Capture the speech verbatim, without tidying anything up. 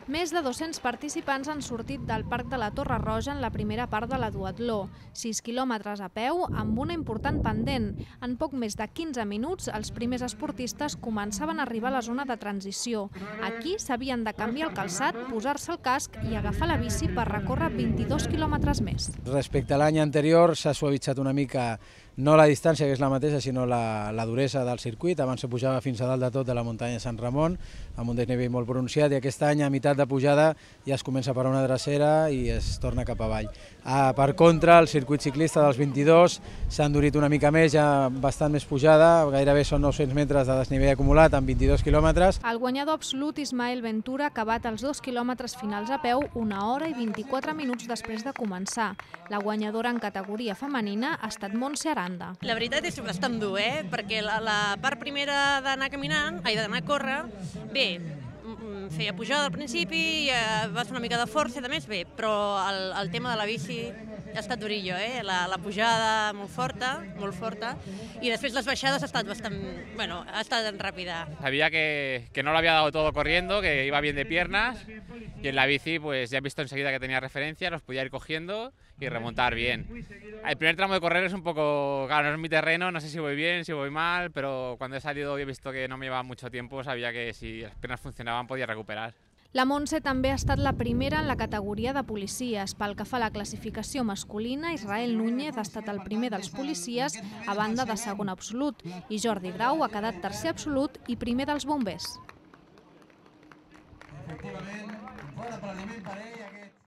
Més de dos-cents participants han sortit del Parc de la Torre Roja en la primera part de la duatló. sis quilòmetres a peu amb una important pendent. En poc més de quinze minuts, els primers esportistes començaven a arribar a la zona de transició. Aquí s'havien de canviar el calçat, posar-se el casc i agafar la bici per recórrer vint-i-dos quilòmetres més. Respecte a l'any anterior s'ha suavitzat una mica, no la distància, que és la mateixa, sinó la, la duresa del circuit. Abans se pujava fins a dalt de tot de la muntanya de Sant Ramon, amb un desnivell molt pronunciat, i aquest any, a meitat de pujada, ja es comença per una drecera i es torna cap avall. Ah, per contra, el circuit ciclista dels vint-i-dos s'ha endurit una mica més, ja bastant més pujada, gairebé són nou-cents metres de desnivell acumulat amb vint-i-dos quilòmetres. El guanyador absolut, Ismael Ventura, ha acabat els dos quilòmetres finals a peu una hora i vint-i-quatre minuts després de començar. La guanyadora en categoria femenina ha estat Montse Aranda. La veritat és bastant dur, eh? Perquè la, la part primera d'anar caminant, ai, d'anar a córrer, bé, feia pujada al principi, eh, va fer una mica de força, de més bé, però el, el tema de la bici ha estat durillo, eh? La, la pujada molt forta, molt forta, y després les baixades ha estat bastant, bueno, ha estat ràpida. Sabía que, que no lo había dado todo corriendo, que iba bien de piernas, y en la bici pues ya he visto enseguida que tenía referencia, los podía ir cogiendo y remontar bien. El primer tramo de correr es un poco, claro, no es mi terreno, no sé si voy bien, si voy mal, pero cuando he salido y he visto que no me llevaba mucho tiempo, sabía que si las piernas funcionaban podía recuperar. La Montse també ha estat la primera en la categoria de policies. Pel que fa a la classificació masculina, Israel Núñez ha estat el primer dels policies a banda de segon absolut i Jordi Grau ha quedat tercer absolut i primer dels bombers. Efectivament, fora per l'aliment per ella.